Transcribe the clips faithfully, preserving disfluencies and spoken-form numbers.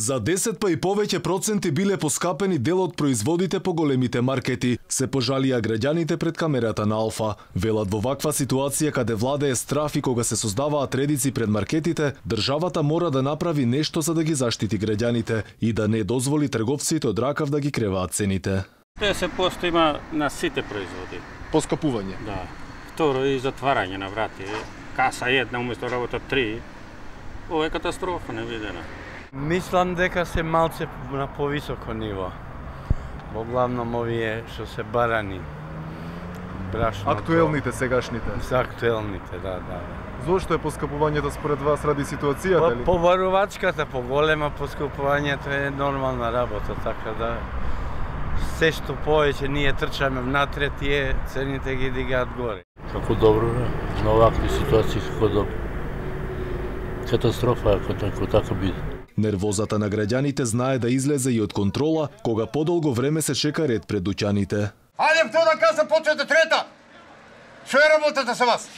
За десет па и повеќе проценти биле поскапени дел од производите по големите маркети, се пожалија граѓаните пред камерата на Алфа. Велат, во ваква ситуација каде владее страф и кога се создаваат редици пред маркетите, државата мора да направи нешто за да ги заштити граѓаните и да не дозволи трговците од ракав да ги креваат цените. Те се постои има на сите производи. Поскапување? Да. Второ и затварање на врати. Каса една уместо работа три. Ова е катастрофа невидена. Мислам дека се малце на повисоко ниво. Во главном овие што се барани. Брашно. Актуелните сегашните. За актуелните, да, да. Зошто е поскапувањето според вас ради ситуацијата ли? По барувачката, по голема поскапувањето е нормална работа, така да се што повеќе ние трчаме внатре, тие цените ги дигаат горе. Како добро, на овакви ситуации како добро. Катастрофа ако така, така биде. Нервозата на граѓаните знае да излезе и од контрола кога подолго време се чека ред пред дуќаните. Ајде втора каса почнете трета. Што е работата со вас?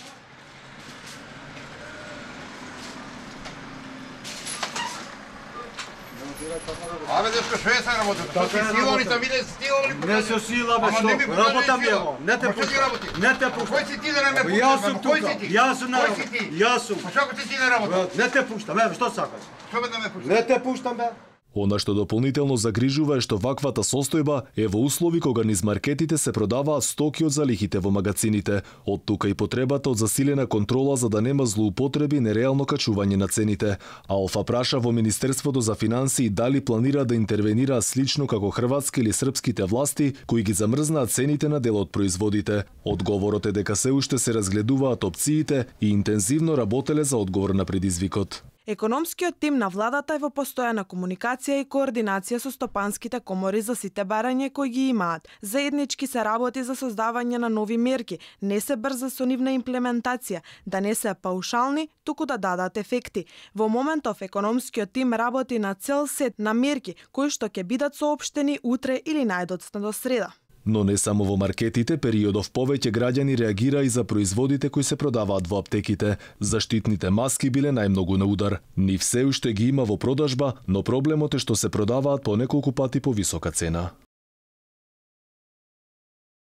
Абе, дешко, што е са работата? Што си силови, са виде силови? Не се сила, бе, што? Работа ми ево. Не те пушта. Не те пушта. Кој си ти да не ме пушташ? Јас сум тука. Јас сум на Кој работа. си ти? Јас сум. Па што ти си на работа? Не те пуштам, еве, што сакаш? Што бе да ме пушташ? Не те пуштам, бе. Она што дополнително загрижува е што ваквата состојба е во услови кога низ маркетите се продаваат стоки од залихите во магацините. Од тука и потребата од засилена контрола за да нема злоупотреби и нереално качување на цените. Алфа праша во Министерството за финансии дали планира да интервенира слично како хрватски или српските власти кои ги замрзнаат цените на дел од производите. Одговорот е дека се уште се разгледуваат опциите и интензивно работеле за одговор на предизвикот. Економскиот тим на владата е во постојана комуникација и координација со стопанските комори за сите барања кои ги имаат. Заеднички се работи за создавање на нови мерки, не се брза со нивна имплементација, да не се паушални, туку да дадат ефекти. Во моментов економскиот тим работи на цел сет на мерки кои што ќе бидат соопштени утре или најдоцна до среда. Но не само во маркетите, периодов повеќе граѓани реагира и за производите кои се продаваат во аптеките. Заштитните маски биле најмногу на удар. Нив се уште ги има во продажба, но проблемот е што се продаваат по неколку пати по висока цена.